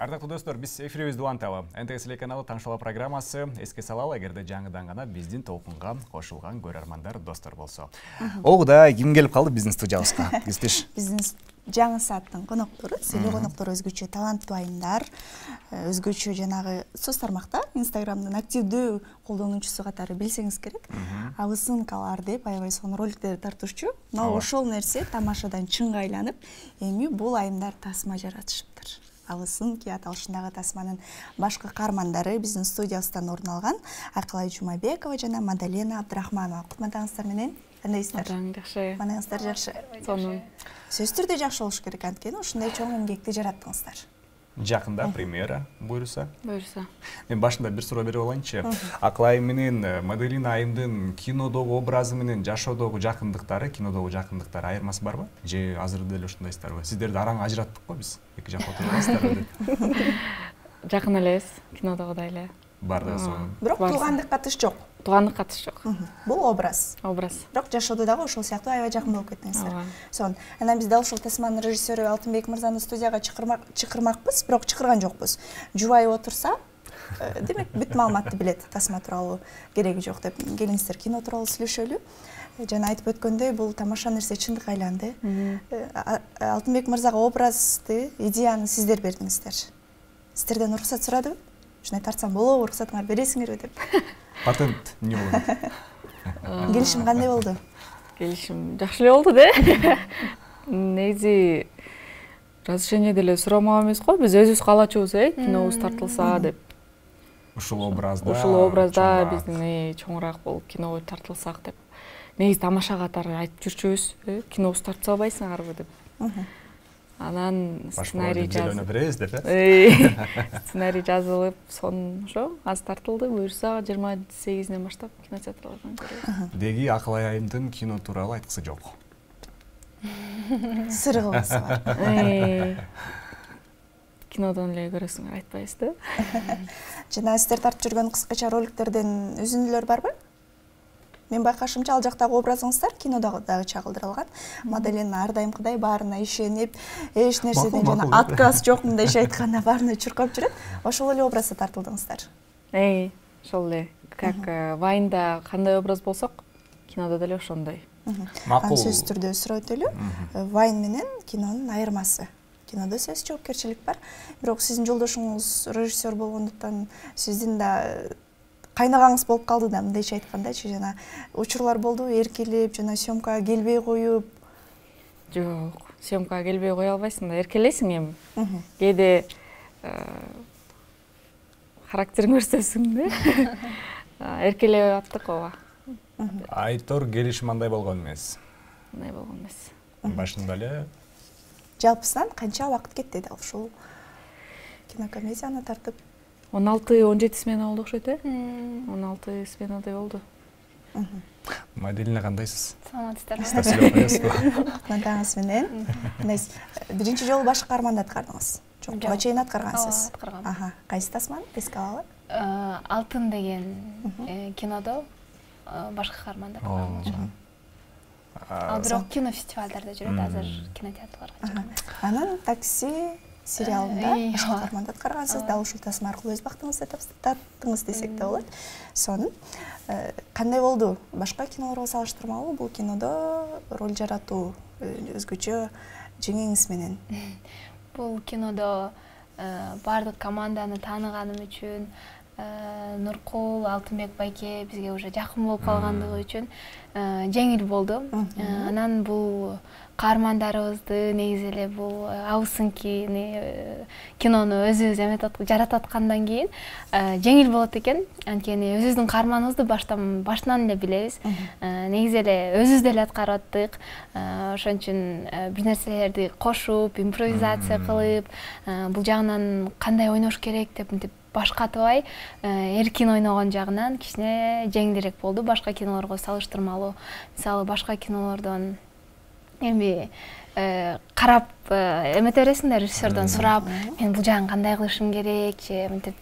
Ардактуу достор, биз эфирибизди уланталы. НТС телеканалы Таңшала программасы. Эске салалы, эгерде жаңыдан гана биздин толкунга кошулган көрөрмандар достор болсо. Огуда ким келип калды биздин студиябызга? Киздиш. Биздин жаңы сааттын коноктору, сыйлуу коноктору өзгөчө таланттуу айымдар, өзгөчө жанагы соц тармакта Инстаграмдын активдүү колдонуучусу катары билсеңиз керек. Абысынкалар деп аябай сонун роликтерди тартуучу. Но ошол нерсе тамашадан чынга айланып, эми бул айымдар тасма жаратышыптыр. Абысынки аталышындагы тасманын башкы каармандары биздин студиябыздан орун алган Акылай Жумабекова жана Мадалена Абдрахманова. Кутмандаңыздар менен. Кандайсыздар? Жакшы. Манаңыздар жакшы. Сонун. Сөзсүз түрдө жакшы болуш керек, анткени ушундай чоң эмгекти жараттыңыздар. Жакында премьера буюрса. Мен башында бир суроо берип алайынчы. Акылай менен Мадалена айымдын кинодогу образы менен жашоодогу жакындыктары, кинодогу жакындыктары айырмасы барбы? Же азыр деле ушундайсыздарбы? Сиздерди араң ажыраттык го биз. Эки жакка отурасыздар деп. Жакын элес, кинодогудай эле. Бардыгы сонун. Бирок туугандык катыш жок. Туугандык катыш жок. Бул образ. Бирок жашоодо дагы ошол сыяктуу аябай жакын болуп кеттиңиздер. Сонун. Анан биз дал ушул тасманын режиссеру Алтынбек мырзаны студияга чакырмакпыз, бирок чакырган жокпуз. Жубайы отурса, демек бүт маалыматты билет тасма тууралуу, кереги жок деп. Келиңиздер, кино тууралуу сүйлөшөлү. Жана айтып өткөндөй, бул тамаша нерсе чындыкка айланды. Алтынбек мырзага образды, идеяны сиздер бердиңиздер. Сиздерден уруксат сурадыбы? Ушундай тартсам болобу, уруксатыңарды бересиңерби деп. Патент эмне болду? Келишим кандай болду? Келишим жакшы эле болду да. Негизи разрешение деле сурамак эмес го, биз өзүбүз каалачубуз, кинобуз тартылса деп. Ушул образда биздин чоңураак болуп кино тартылсак деп. Негизи тамаша катары айтып жүрчүбүз, кинобуз тартса албайсыңарбы деп. Анан сценарий жазылып, сонун ошо аз тартылды. Буюрса 28-ден баштап кинотеатрлардан көрөбүз. Деги Акылай айымдын кино тууралуу айткысы жок. Сыры кылгысы бар. Кинодон эле көрөсүңөр, айтпайбыз да. Жана сиздер тартып жүргөн кыскача роликтерден үзүндүлөр барбы? Мен байкашымча ал жактагы образыңыздар кинодагы дагы чагылдырылган. Мадалена ар дайымкыдай баарына ишенип, эч нерседен жана отказ жок мындайча айтканда баарына чуркап жүрөт. Ошол эле образда тартылдыңыздар. Ошол эле. Как Вайнда кандай образ болсок, кинодо деле ошондой. Макул. Сөзсүз түрдө суроо өтөлү. Вайн менен кинонун айырмасы. Кинодо сөз жоопкерчилик бар. Бирок сиздин жолдошуңуз режиссер болгондуктан сиздин да кайнагаңыз болуп калды да, мындайча айткандачы, жана учурлар болду, эркелеп, жана съемкага келбей коюп. Жок, съемкага келбей кое албайсың да, эркелесиң эми. Кээде характериң көрсөтсүң да. Эркелеп аттык ооба. Айтор келишим андай болгон эмес. Андай болгон эмес. Башында эле жалпысынан канча убакыт кетти дал ушул кинокомедияны тартып? 16-17 смена болду окшойт, 16 сменадай болду. Мадалена кандайсыз? Саламатсыздарбы? Кутмандаңыз менен. Биринчи жолу башкы каарманды аткардыңыз. Жок, буга чейин аткаргансыз. Аткаргам. Кайсы тасманы? Эске алалы? Алтын деген кинодо башкы каарманды аткаргам. Ал бирок кинофестивалдарда жүрөт, азыр кинотеатрларга чыга эмес. Анан такси сериалында башкы каарманды аткаргансыз, дал ушул тасма аркылуу өз бактыңызды таптыңыз десек да болот. Сонун. Кандай болду? Башка кинолорго салыштырмалуу бул кинодо роль жаратуу өзгөчө жеңеңиз менен? Бул кинодо бардык команданы тааныганым үчүн, Нуркул, Алтынбек байке бизге уже жакын болуп калгандыгы үчүн жеңил болду. Анан бул каармандарыбызды негизи эле бул абысынки кинону өзүбүз жаратып аткандан кийин жеңил болот экен. Анткени өзүбүздүн каарманыбызды баштан эле билебиз. Негизи эле өзүбүз деле аткарып аттык. Ошон үчүн бир нерселерди кошуп, импровизация кылып, бул жагынан кандай ойнош керек деп башкатыбай, эркин ойногон жагынан кичине жеңилирээк болду башка кинолорго салыштырмалуу. Мисалы башка кинолордон эми карап эмете бересиң да, режиссердон сурап, мен бул жагын кандай кылышым керек, же мынтип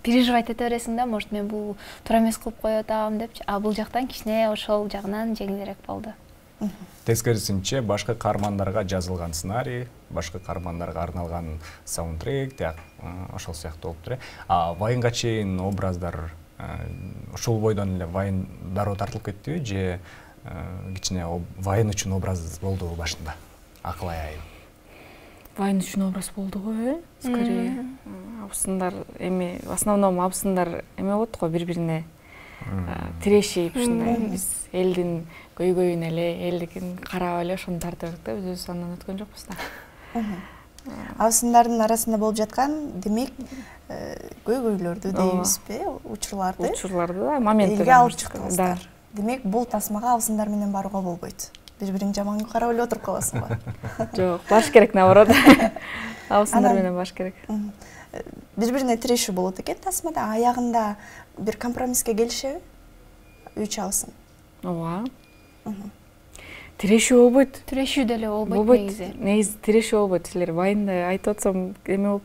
переживать эте бересиң да, может мен бул туура эмес кылып коюп атам депчи. А бул жактан кичине ошол жагынан жеңилирээк болду. Тескерисинче башка каармандарга жазылган сценарий, башка каармандарга арналган саундтрек ошол сыяктуу болуптур. Вайынга чейин образдар ушул бойдон эле Вайн дароо тартылып кеттиби же кичине Вайн үчүн образ болдубу башында? Акылай айым. Вайн үчүн образ болду го, скорее. Абысындар эми в основном абысындар эме болот го, бири-бирине тирешип ушундай биз элдин көйгөйүн эле, элдикин карап эле ошону тартып да, биз андан өткөн жокпуз да. Абысындардын арасында болуп жаткан, демек, көйгөйлөрдү дейбизби, учурларды да, моменттерди элге алып чыктыңыздар. Демек, бул тасмага абысындар менен барууга болбойт. Бири-бириң жаман карап эле отуруп каласыңбы? Жок, баш керек наоборот. Абысындар менен баш керек. Бири-бирине тирешүү болот экен тасмада, аягында бир компромисске келишеби? Үч абысын. Ооба. Тирешүү болбойт. Тирешүү деле болбойт негизи. Негизи тирешүү болбойт. Силер Вайнда айтып атсам эме болуп.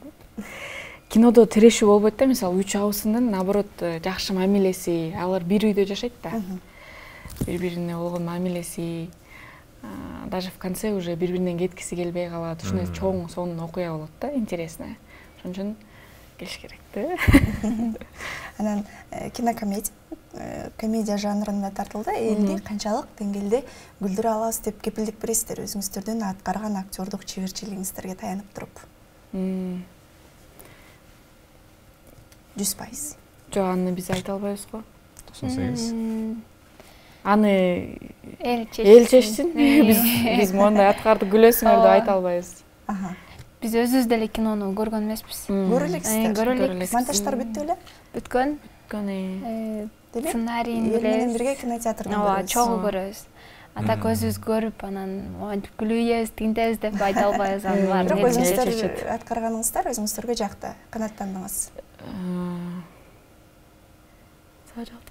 Кинодо тирешүү болбойт да, мисалы, үч абысындын наоборот жакшы мамилеси, алар бир үйдө жашайт да. Бири-бирине болгон мамилеси, даже в конце уже бири-биринен кеткиси келбей калат. Ушундай чоң сонун окуя болот да, интересный. Ошон үчүн келиш керек да. Анан кинокомедия, комедия жанрында тартылды. Элди канчалык деңгээлде күлдүрө алабыз деп кепилдик бересиздер өзүңүздөрдүн аткарган актердук чеберчилигиңиздерге таянып туруп? 100%. Жок, аны биз айта албайбыз го. 98. Аны эл чечсин. Биз мондай аткарды күлөсүңөр деп айта албайбыз. Биз өзүбүз деле кинону көргөн эмеспиз. Көрө элексиздер. Көрө элек. Монтаждар бүттү беле? Бүткөн. Сценарийин эл менен бирге кинотеатрдан көрөбүз. Ооба, чогуу көрөбүз. Так өзүбүз көрүп, анан монтип күлүүбүз, тинтебиз деп айта албайбыз. Аны баары бирок өзүңүздөр аткарганыңыздар өзүңүздөргө жакты, канааттандыңыз.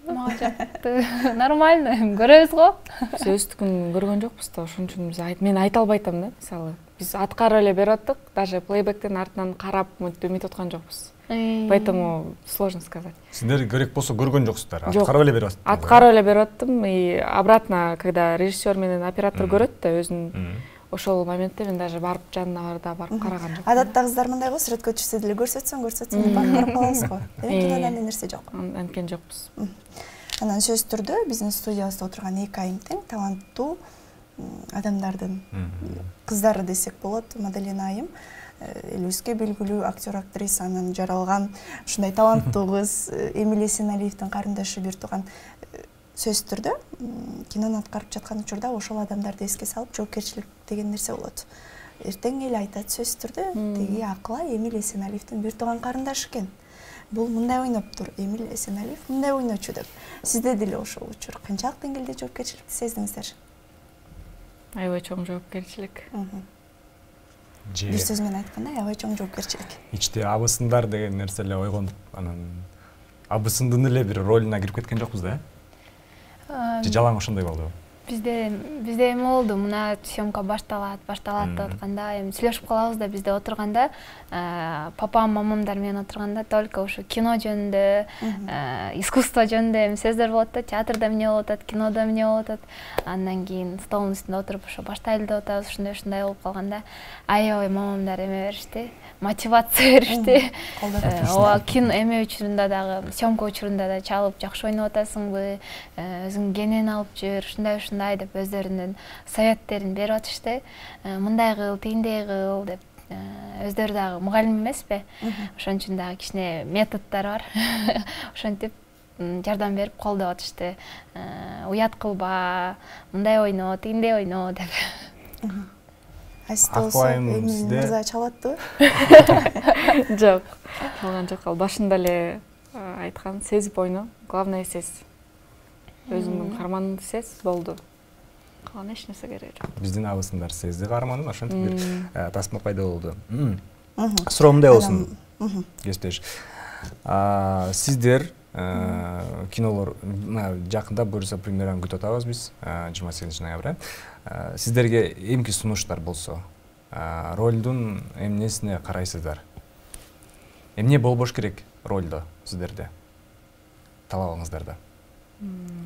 Мага жакты. Нормально, көрөбүз го. Биз өздүкүн көргөн жокпуз да, ошон үчүн мен айта албай атам да, мисалы. Биз аткарып эле берип аттык, даже плейбектен артынан карап мынтип аткан жокпуз. Поэтому сложно сказать. Сиздер керек болсо көргөн жоксуздар, аткарып эле берип аттыңар. Аткарып эле берип аттым, и обратно, когда режиссер менен оператор көрөт да өзүн, ошол моментте мен даже барып жанына барып караган жокмун. Адатта кыздар мындай го, сүрөткө түшсө деле көрсөтсөң деп барып карап калабыз го. Демек кинода андай нерсе жок. Анткени жокпуз. Анан сөзсүз түрдө биздин студиябызда отурган эки айым тең таланттуу адамдардын кыздары десек болот. Мадалина айым элибизге белгилүү актер, актрисанын жаралган ушундай таланттуу кыз, Эмилия Есеналиевдин карындашы, бир тууган. Сөзсүз түрдө кинону аткарып жаткан учурда ошол адамдарды эске салып, жоопкерчилик деген нерсе болот. Эртең эл айтат сөзсүз түрдө, тиги Акылай Эмилия Есеналиевдин бир тууган карындашы экен. Бул мындай ойноптур, Эмилия Есеналиев мындай ойночу деп. Сизде деле ошол учур канчалык деңгээлде жоопкерчиликти сездиңиздер? Аябай чоң жоопкерчилик. Бир сөз менен айтканда, аябай чоң жоопкерчилик. Ичте абысындар деген нерсе эле ойгонуп, анан абысындын эле бир ролуна кирип кеткен жокпуз да? Же жалаң ошондой болдубу? Бизде эме болду, мына съемка башталат деп атканда, эми сүйлөшүп калабыз да, бизде отурганда, папам, мамамдар менен отурганда только ошо кино жөнүндө, искусство жөнүндө эми сөздөр болот да, театрда эмне болуп атат, кинодо эмне болуп атат. Андан кийин столдун үстүндө отуруп ошо баштайлы деп атабыз, ушундай болуп калганда, аябай мамамдар эме беришти, мотивация беришти. Ооба, кино эме учурунда дагы, съемка учурунда да чалып жакшы ойноп атасыңбы, өзүң кенен алып жүр, ушундай деп өздөрүнүн советтерин берип атышты. Мындай кыл, тигиндей кыл деп. Өздөрү дагы мугалим эмеспи? Ошон үчүн дагы кичине методдор бар. Ошентип жардам берип колдоп атышты. Уят кылба, мындай ойно, тигиндей ойно деп. Эми мырза чалаттыбы? Жок, чалган жок. Ал башында эле айткан, сезип ойно. Главное сез. Өзүңдүн карманыңды сез, болду. Калган эч нерсе кереги жок. Биздин абысындар сезди карманын, ошентип бир тасма пайда болду. Суроом мындай болсун, кесиптеш. Сиздер кинолор жакында буюрса премьераны күтүп атабыз биз, 28 ноябрда. Сиздерге эмки сунуштар болсо, ролдун эмнесине карайсыздар? Эмне болбош керек ролдо сиздерде? Талабыңыздарда.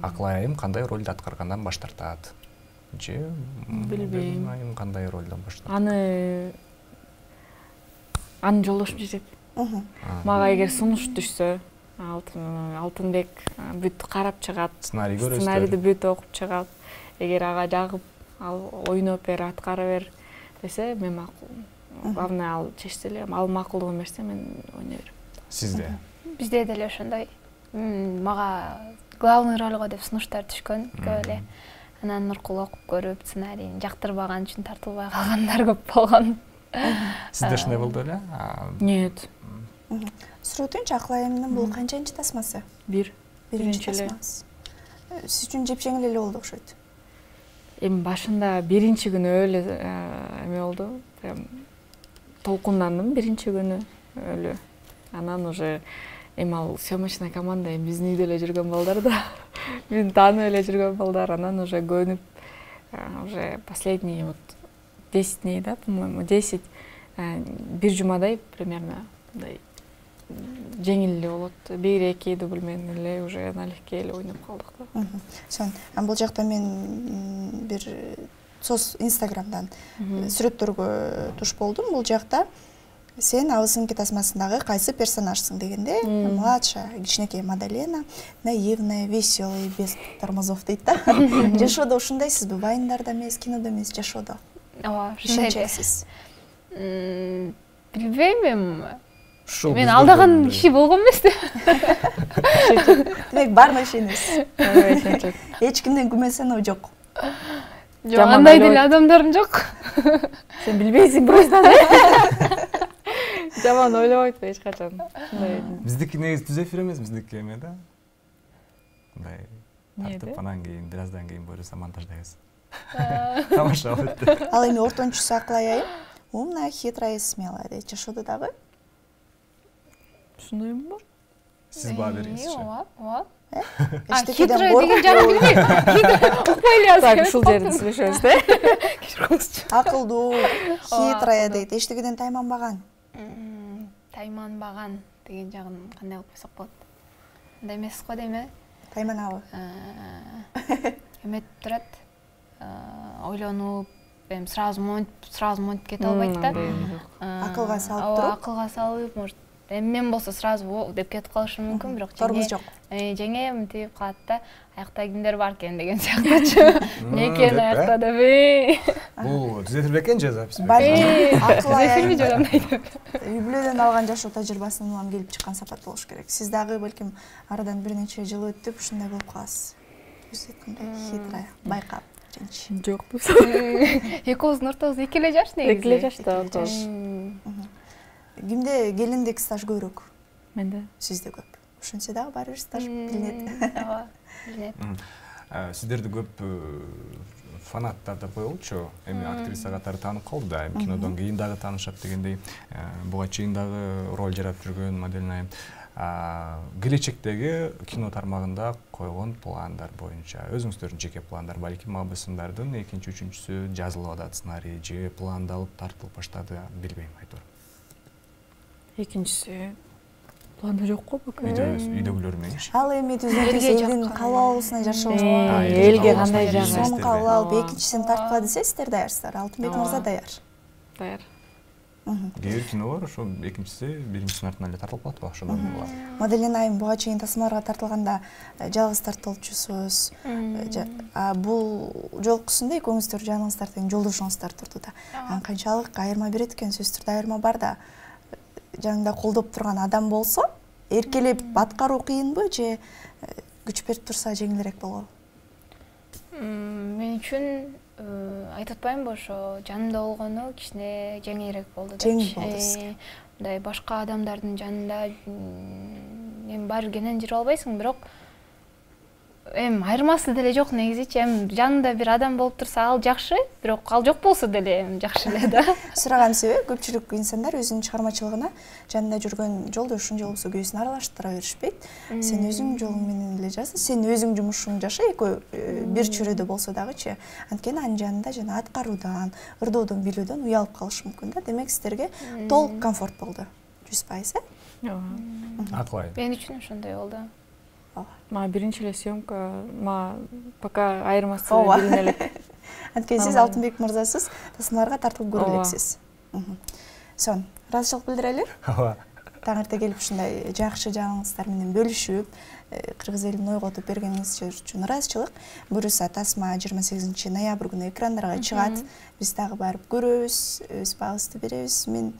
Акылай айым кандай ролду аткаргандан баш тартат? же билбейм. Айым кандай ролдон баштап? Анын жолдошум чечет. Мага эгер сунуш түшсө, Алтынбек бүт карап чыгат. Сценарий көрөсүз. Сценарийди бүт окуп чыгат. Эгер ага жагып, ал ойноп бер, аткара бер десе, мен макул. Главное ал чечсе эле, ал макулдугун берсе, мен ойной берем. Сизде? Бизде деле ошондой. Мага главный ролго деп сунуштар түшкөн көп эле. Анан Нуркул окуп көрүп, сценарийин жактырбаган үчүн тартылбай калгандар көп болгон. Сизде ошондой болду беле? Нет. Суроойтуңчу, Аклайымдын бул канчанчы тасмасы? Биринчи эле. Сиз үчүн жепшеңил эле болду окшойт. Эми башында биринчи күнү эле эме болду. Прям толкундандым биринчи күнү эле. Анан уже эми ал съемочный команда биздин үйдө эле жүргөн балдар да. Мени таанып эле жүргөн балдар. Анан уже көнүп, уже последний вот 10 дней, да, по-моему, 10, бир жумадай примерно мындай жеңил эле болот. 1-2 дубль менен эле уже налегке эле ойноп калдык да. Сон, бул жакта мен бир Инстаграмдан сүрөттөргө туш болдум. Бул жакта сен Абысыңки тасмасындагы кайсы персонажсың дегенде, младшая, кичинекей Мадалена, наивная, веселая, без тормозов дейт да. Жашоодо ушундайсызбы? Вайндарда эмес, кинодо эмес, жашоодо? Ооба, ушунчайсыз. Билбейм эми. Мен алдаган киши болгон эмес да. Демек бармы ишенесиз? Эч кимден күмөнсөнүү жок. Жок, андай деле адамдарым жок. Сен билбейсиң просто. Жаман ойлобойт эч качан. Биздики негизи түз эфир эмес, биздики эме да. Мындай тартып анан кийин бир аздан кийин буюрса монтаждайбыз. Тамаша болот. Ал эми ортончусу Аклай айым умная, хитрая и смелая дейт. Жашоодо дагы? Ушундоймун ба? Сиз баа бериңизчи. Ооба. Хитрая деген жагын билбейм. Укпай эле Так, ушул жерди сүйлөшөбүз да. Кечириңизчи. Акылдуу, хитрая дейт. Эчтегеден тайманбаган. Тайманбаган деген жагын кандай кылып койсок болот? Андай эмес го дейм э? Тайманабы? Эметип турат. Ойлонуп, эми сразу монтип кете албайт да. Акылга салып туруп. Акылга салып, может, эми мен болсо сразу деп кетип калышым мүмкүн, бирок тормоз жок. Жеңе мынтип калат да. Аякта кимдер бар экен деген сыяктуучу. Мекен аякта деп. Бул түзөтүл бекен же запись? Аклай айым же андай деп. Үй бүлөдөн алган жашоо тажрыйбасынан улам келип чыккан сапат болуш керек. Сиз дагы балким арадан бир нече жыл өтүп ушундай болуп каласыз. Биз айткандай хитрая, байкап женщина. Жокпуз. Экөөбүздүн ортобузда 2 эле жаш негизи. 2 эле жашта отуз. Кимде келиндик стаж көбүрөөк? Менде. Сизде көп. Ушунча дагы баары бир стаж билинет. Ооба, билинет. Сиздерди көп фанаттар деп коелучу. Эми актриса катары таанып калды да. Эми кинодон кийин дагы таанышат дегендей. Буга чейин дагы роль жарап жүргөн модель айым. Келечектеги кино тармагында койгон пландар боюнча өзүңүздөрдүн жеке пландар, балким Абысыңдардын экинчи, үчүнчүсү жазылып атат сценарий же пландалып тартылып баштады, билбейм айтор. Экинчиси планда жок го пока. Үйдөгүлөр мененчи. Ал эми түзүлгөн элдин каалоосуна жашоо. Элге кандай жагы? Сом кабыл алып экинчисин тарткыла десе, сиздер даярсыздар. Алтынбек мырза даяр. Даяр. Кээ бир кинолор ошо экинчиси биринчисинин артынан эле тартылып калат го, ошондой болот. Маделен айым буга чейин тасмаларга тартылганда жалгыз тартылчусуз. Бул жолкусунда экөөңүздөр жаныңыздар тең жолдошуңуздар турду да. Канчалык айырма берет экен, сөзсүз түрдө айырма бар да. Жаныңда колдоп турган адам болсо, эркелеп аткаруу кыйынбы же күч берип турса жеңилирээк болобу? Мен үчүн айтып атпаймынбы, ошо жанымда болгону кичине жеңилирээк болду деп. Жеңил болду. Мындай башка адамдардын жанында эми баары кенен жүрүп албайсың, бирок эми айырмасы деле жок негизичи. Эми жанында бир адам болуп турса ал жакшы, бирок ал жок болсо деле эми жакшы эле да. Сураган себеби көпчүлүк инсандар өзүнүн чыгармачылыгына жанында жүргөн жолдошун же болбосо күйөөсүн аралаштыра беришпейт. Сен өзүң жолуң менен эле жаса, сен өзүң жумушуңду жаша, экөө бир чүрөдө болсо дагычы. Анткени анын жанында жана аткаруудан, ырдоодон, билүүдөн уялып калышы мүмкүн да. Демек сиздерге толук комфорт болду. 100%, Ооба. Аклай. Мен үчүн ошондой болду. Мага биринчи эле съемка, мага пока айырмасы билине элек. Анткени сиз Алтынбек мырзасыз тасмаларга тартылып көрө элексиз. Сонун, ыраазычылык билдирели. Ооба. Таң эрте келип ушундай жакшы жаңылыктар менен бөлүшүп, кыргыз элин ойготуп бергениңиз үчүн ыраазычылык. Буюрса тасма 28 ноябрь күнү экрандарга чыгат. Биз дагы барып көрөбүз, өз баабызды беребиз. Мен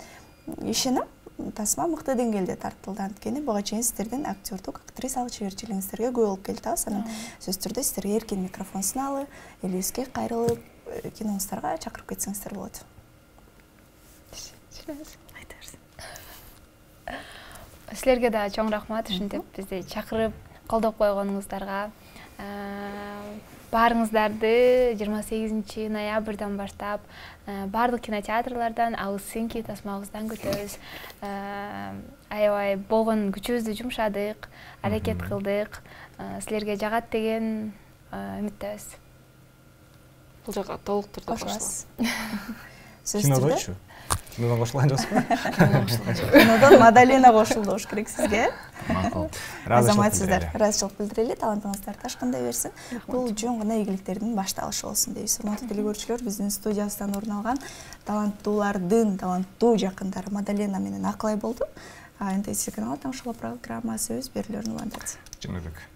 ишенем, тасма мыкты деңгээлде тартылды. Анткени буга чейин сиздердин актердук, актрисалык чеберчилигиңиздерге күбө болуп келатабыз. Анан сөзсүз түрдө сиздерге эркин микрофон суналып, элибизге кайрылып, киноңуздарга чакырып кетсеңиздер болот. Силерге да чоң рахмат, ушинтип бизди чакырып колдоп койгонуңуздарга. Баарыңыздарды 28 ноябрдан баштап баардык кинотеатрлардан, Ауыз Синки тасмабыздан күтөбүз. Аябай болгон күчүбүздү жумшадык, аракет кылдык. Силерге жагат деген үмүттөбүз. Бул жака толуктурду кошулабыз. Кинодочу? Кинодон кошулган жоксузбу? Кинодон Мадалена кошулду болуш керек сизге. Макул. Азаматсыздар, ыраазычылык билдирели, талантыңыздар ташкындай берсин. Бул жөн гана ийгиликтердин башталышы болсун дейбиз. Урматтуу телекөрүүчүлөр, биздин студиябыздан орун алган таланттуулардын таланттуу жакындары Мадалена менен Аклай болду. НТС каналы Таңшыла программасы өз берүүлөрүн улантат. Жөнөбек.